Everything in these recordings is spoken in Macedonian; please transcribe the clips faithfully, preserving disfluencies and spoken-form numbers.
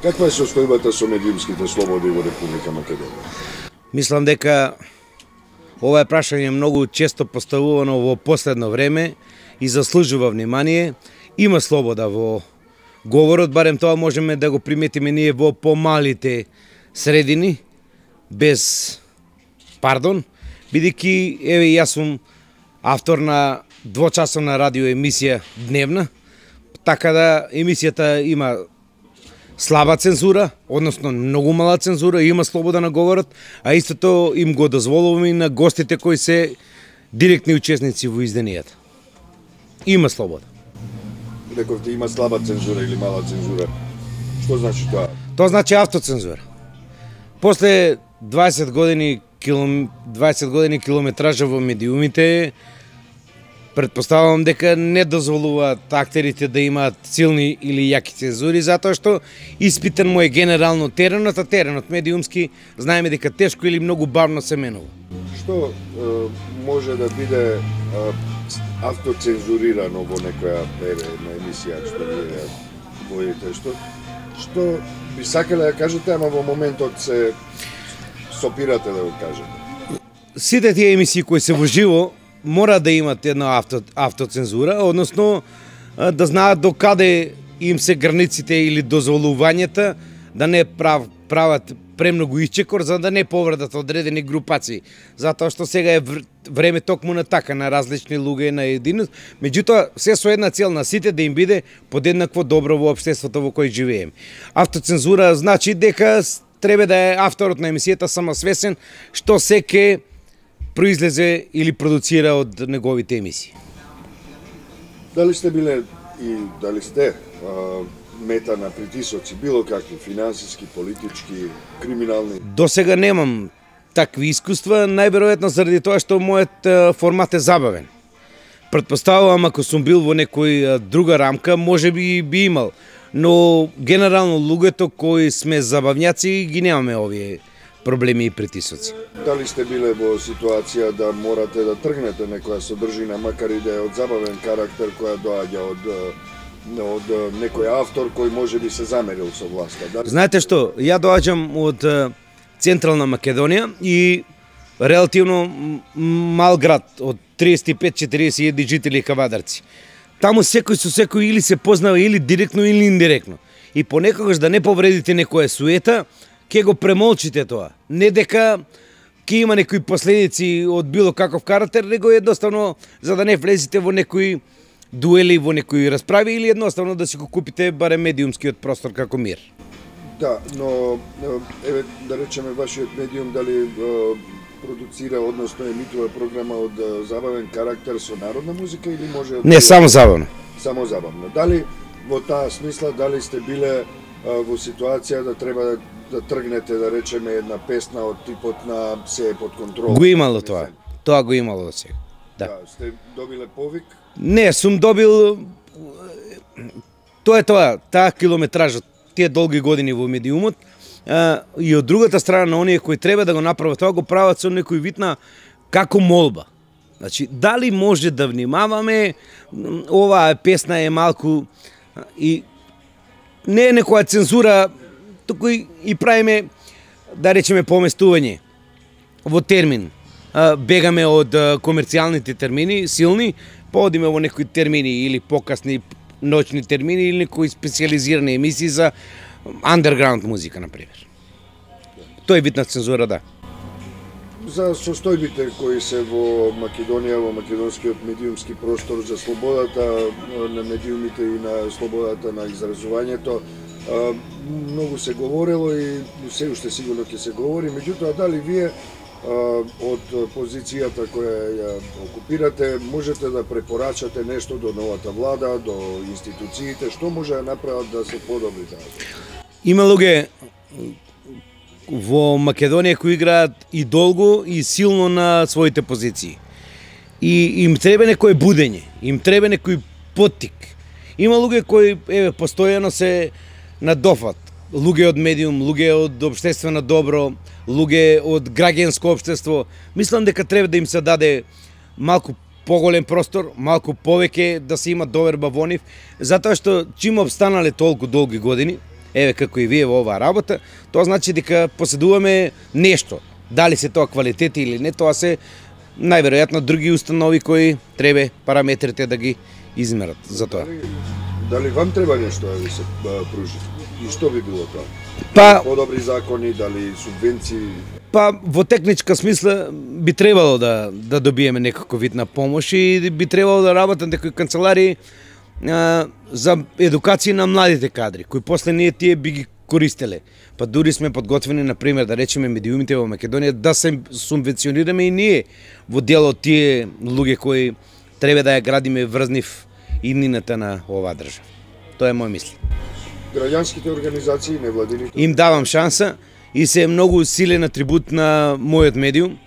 Каква е состојбата со медиумските слободи во Република Македонија? Мислам дека ова е прашање многу често поставувано во последно време и заслужува внимание. Има слобода во говорот, барем тоа можеме да го приметиме ние во помалите средини, без пардон, бидејќи еве јас сум автор на двочасовна радио емисија дневна, така да емисијата има слаба цензура, односно многу мала цензура, има слобода на говорот, а истото им го дозволуваме и на гостите кои се директни учесници во изденијата. Има слобода. Рековте има слаба цензура или мала цензура. Што значи тоа? Тоа значи автоцензура. После дваесет години килом... дваесет години километража во медиумите, претпоставувам дека не дозволуваат актерите да имаат силни или јаки цензури, затоа што испитен му е генерално теренот, а теренот медиумски знаеме дека тешко или многу бавно се менува. Што е, може да биде е, автоцензурирано во некоја на емисија што вие водите? Што, што би сакале да кажете, ама во моментот се сопирате да го кажете? Сите тие емисии кои се во живо мора да имат една авто, автоцензура, односно да знаат до каде им се границите или дозволувањата, да не прав, прават премногу исчекор, за да не повредат одредени групации. Затоа што сега е време токму на така, на различни луѓе, на единост, меѓутоа се со една цел на сите да им биде подеднакво добро во општеството во кој живееме. Автоцензура значи дека треба да е авторот на емисијата самосвесен што се ке произлезе или продуцира од неговите емисии. Дали сте биле и дали сте а, мета на притисоци, било какви, финансиски, политички, криминални? До сега немам такви искуства, најверојатно заради тоа што мојот формат е забавен. Претпоставувам ако сум бил во некој друга рамка, може би би имал, но генерално луѓето кои сме забавњаци ги немаме овие проблеми и притисоци. Дали сте биле во ситуација да морате да тргнете некоја содржина, макар и да е од забавен карактер, која доаѓа од, од некој автор кој може би се замерил со власта? Дали... Знаете што, ја доаѓам од Централна Македонија и релативно мал град, од триесет и пет четириесет жители кавадарци. Таму секој со секој или се познава или директно или индиректно. И понекогаш да не повредите некоја суета, ке го премолчите тоа. Не дека ке има некои последици од било каков карактер, него едноставно за да не влезете во некои дуели, во некои расправи или едноставно да си го купите барем медиумскиот простор како мир. Да, но еве да речеме вашиот медиум дали продуцира, односно емитува програма од забавен карактер со народна музика или може... Не, само забавно. Само забавно. Дали во таа смисла, дали сте биле во ситуација да треба да да тргнете, да речеме, една песна од типот на се е под контрол? Го имало тоа. Тоа го имало до сега. Да. Да. Сте добиле повик? Не, сум добил... Тоа е тоа, таа километража, тие долги години во медиумот, а, и од другата страна на оние кои треба да го направат тоа, го прават со некој вид на како молба. Значи, дали може да внимаваме, оваа песна е малку и не е некоја цензура, туку и правиме, да речеме, поместување во термин. Бегаме од комерцијалните термини, силни, поодиме во некои термини или покасни ноќни термини или некои специализирани емисии за андерграунд музика, например. Тој вид на цензура, да. За состојбите кои се во Македонија, во македонскиот медиумски простор, за слободата на медиумите и на слободата на изразувањето, многу се говорело и се уште сигурно ќе се говори, меѓутоа дали вие од позицијата која ја окупирате можете да препорачате нешто до новата влада, до институциите, што може да направат да се подобри тоа? Има луѓе во Македонија кои играат и долго и силно на своите позиции. И им треба некој будење, им треба некој поттик. Има луѓе кои еве постојано се надофат. Луѓе од медиум, луѓе од општествено добро, луѓе од граѓанско општество. Мислам дека треба да им се даде малку поголем простор, малку повеќе да се има доверба во нив, затоа што чим обстанале толку долги години, еве како и вие во оваа работа, тоа значи дека поседуваме нешто. Дали се тоа квалитети или не, тоа се најверојатно други установи кои треба параметрите да ги измерат за тоа. Дали, дали вам треба нешто да ви се пружи? И што би било тоа? Па, подобри закони, дали субвенции? Па во техничка смисла би требало да да добиеме некаков вид на помош и би требало да работат некои канцеларии а, за едукација на младите кадри, кои после ние тие би ги користеле. Па дури сме подготвени, на пример, да речеме медиумите во Македонија да се субвенционираме и ние во дел од тие луѓе кои треба да ја градиме врз нив иднината на оваа држава. Тоа е мој мисли. Граѓанските организации, невладините? Им давам шанса и се е многу силен атрибут на мојот медиум.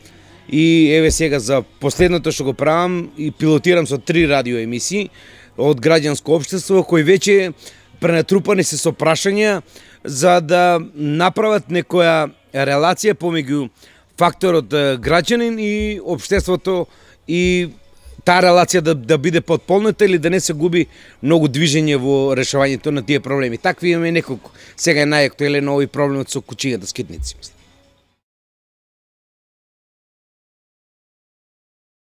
И еве сега за последното што го правам и пилотирам со три радио емисии од граѓанско општество кои веќе пренатрупани се со прашања за да направат некоја релација помеѓу факторот граѓанин и општеството и таа релација да, да биде потполнета или да не се губи многу движење во решавањето на тие проблеми. Такви имаме неколку. Сега е најактуелен овој проблемот со кучињата скитници.